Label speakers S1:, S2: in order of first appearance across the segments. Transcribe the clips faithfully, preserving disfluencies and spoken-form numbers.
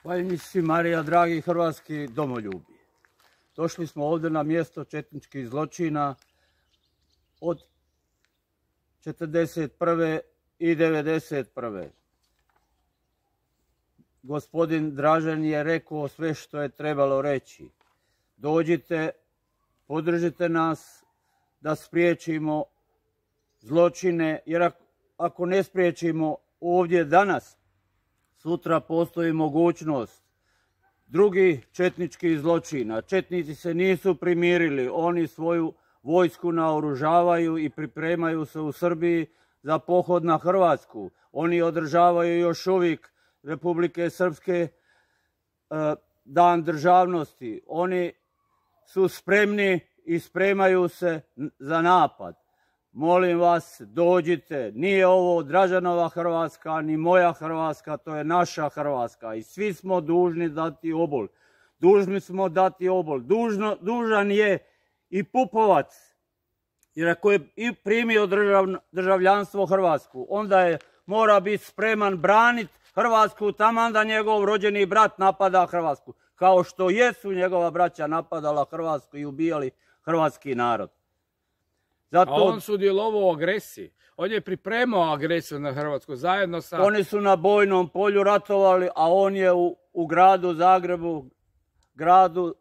S1: Hvaljnici Marija, dragi hrvatski domoljubi. Došli smo ovdje na mjesto četničkih zločina od četrdeset prve i devedeset prve Gospodin Dražen je rekao sve što je trebalo reći. Dođite, podržite nas da spriječimo zločine, jer ako ne spriječimo ovdje danas, sutra postoji mogućnost drugih četničkih zločina. Četnici se nisu primirili, oni svoju vojsku naoružavaju i pripremaju se u Srbiji za pohod na Hrvatsku. Oni održavaju još uvijek Republike Srpske dan državnosti. Oni su spremni i spremaju se za napad. Molim vas, dođite. Nije ovo Dražanova Hrvatska, ni moja Hrvatska, to je naša Hrvatska. I svi smo dužni dati obol. Dužni smo dati obol. Dužno, dužan je i Pupovac. Jer ako je i primio držav, državljanstvo Hrvatsku, onda je mora biti spreman braniti Hrvatsku taman da njegov rođeni brat napada Hrvatsku. Kao što jesu njegova braća napadala Hrvatsku i ubijali hrvatski narod.
S2: Zato, a on sudjelovao u agresiji. On je pripremao agresiju na Hrvatsku zajedno sa...
S1: Oni su na bojnom polju ratovali, a on je u, u gradu Zagrebu, gradu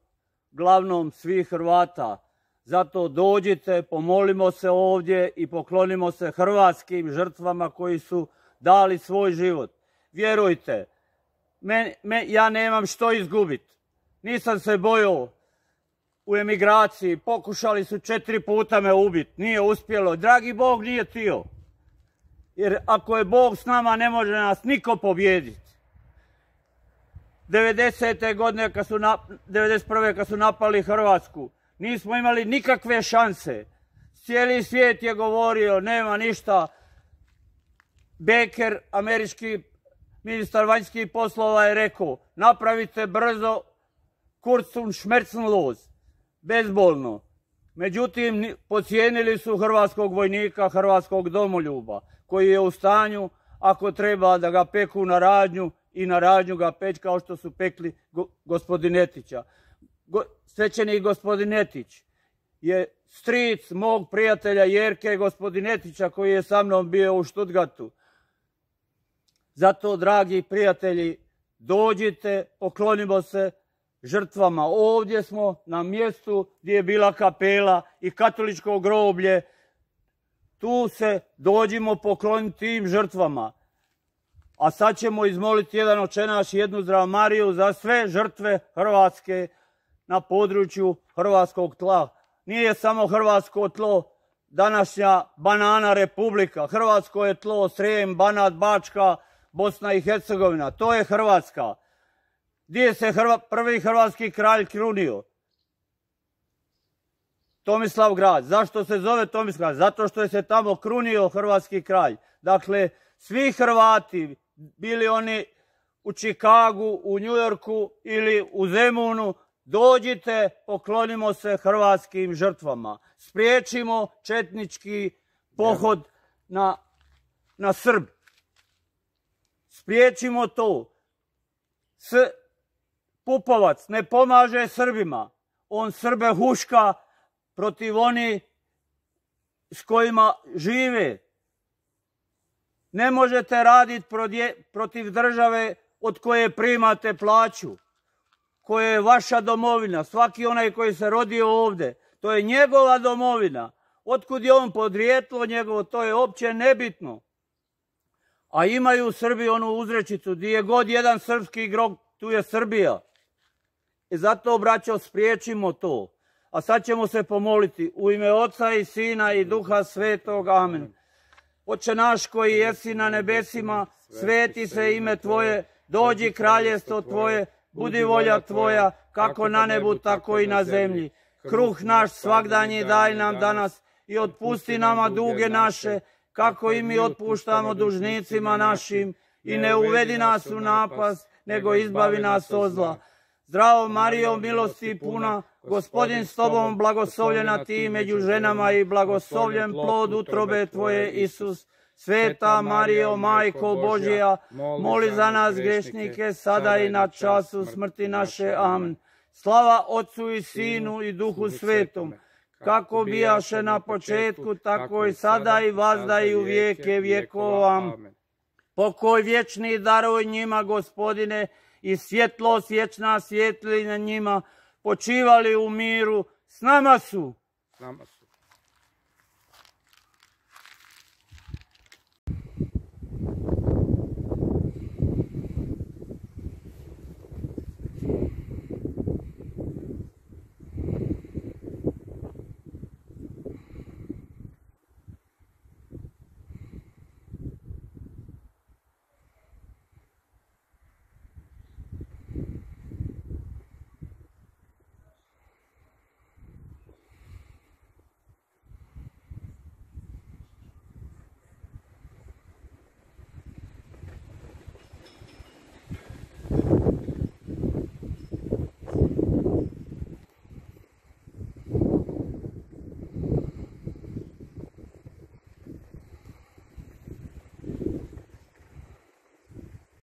S1: glavnom svih Hrvata. Zato dođite, pomolimo se ovdje i poklonimo se hrvatskim žrtvama koji su dali svoj život. Vjerujte, me, me, ja nemam što izgubiti. Nisam se bojao. U emigraciji pokušali su četiri puta me ubiti, nije uspjelo. Dragi Bog nije htio. Jer ako je Bog s nama, ne može nas niko pobijediti. devedesete godine, kad su na, devedeset prve kad su napali Hrvatsku, nismo imali nikakve šanse. Cijeli svijet je govorio, nema ništa. Baker, američki ministar vanjskih poslova, je rekao, napravite brzo kurz und schmerzenlos. Bezbolno. Međutim, podcijenili su hrvatskog vojnika, hrvatskog domoljuba, koji je u stanju, ako treba, da ga peku na radnju i na radnju ga peć kao što su pekli go, gospodinetića. Go, svećenik gospodinetić je stric mog prijatelja Jerke gospodinetića koji je sa mnom bio u Stuttgartu. Zato, dragi prijatelji, dođite, poklonimo se žrtvama. Ovdje smo na mjestu gdje je bila kapela i katoličko groblje. Tu se dođimo pokloniti tim žrtvama. A sad ćemo izmoliti jedan Oče naš i jednu Zdravu Mariju za sve žrtve Hrvatske na području hrvatskog tla. Nije samo hrvatsko tlo današnja banana republika. Hrvatsko je tlo Srijem, Banat, Bačka, Bosna i Hercegovina. To je Hrvatska. Gdje se Hrva, prvi hrvatski kralj krunio? Tomislavgrad. Zašto se zove Tomislavgrad? Zato što je se tamo krunio hrvatski kralj. Dakle, svi Hrvati, bili oni u Čikagu, u Njujorku ili u Zemunu, dođite, poklonimo se hrvatskim žrtvama. Spriječimo četnički pohod na, na Srb. Spriječimo to. S Pupovac ne pomaže Srbima. On Srbe huška protiv oni s kojima žive. Ne možete raditi protiv države od koje primate plaću, koja je vaša domovina. Svaki onaj koji se rodio ovdje, to je njegova domovina. Otkud je on podrijetlo njegovo, to je uopće nebitno. A imaju Srbi onu uzrečicu, gdje je god jedan srpski grob, tu je Srbija. I zato, braćo, spriječimo to. A sad ćemo se pomoliti u ime Oca i Sina i Duha Svetog. Amen. Oče naš koji jesi na nebesima, sveti se ime Tvoje, dođi kraljestvo Tvoje, budi volja Tvoja, kako na nebu, tako i na zemlji. Kruh naš svagdanji daj nam danas i otpusti nama duge naše, kako i mi otpuštamo dužnicima našim, i ne uvedi nas u napast, nego izbavi nas od zla. Zdravo Marijo, milosti puna, Gospodin s tobom, blagoslovljena ti među ženama i blagoslovljen plod utrobe tvoje, Isus. Sveta Marijo, Majko Božja, moli za nas grešnike, sada i na času smrti naše. Amen. Slava Otcu i Sinu i Duhu Svetom, kako bijaše na početku, tako i sada i vazda i u vijeke vjekova. Pokoj vječni daruj njima, Gospodine, i svjetlost vječna svijetli na njima, počivali u miru, s nama su.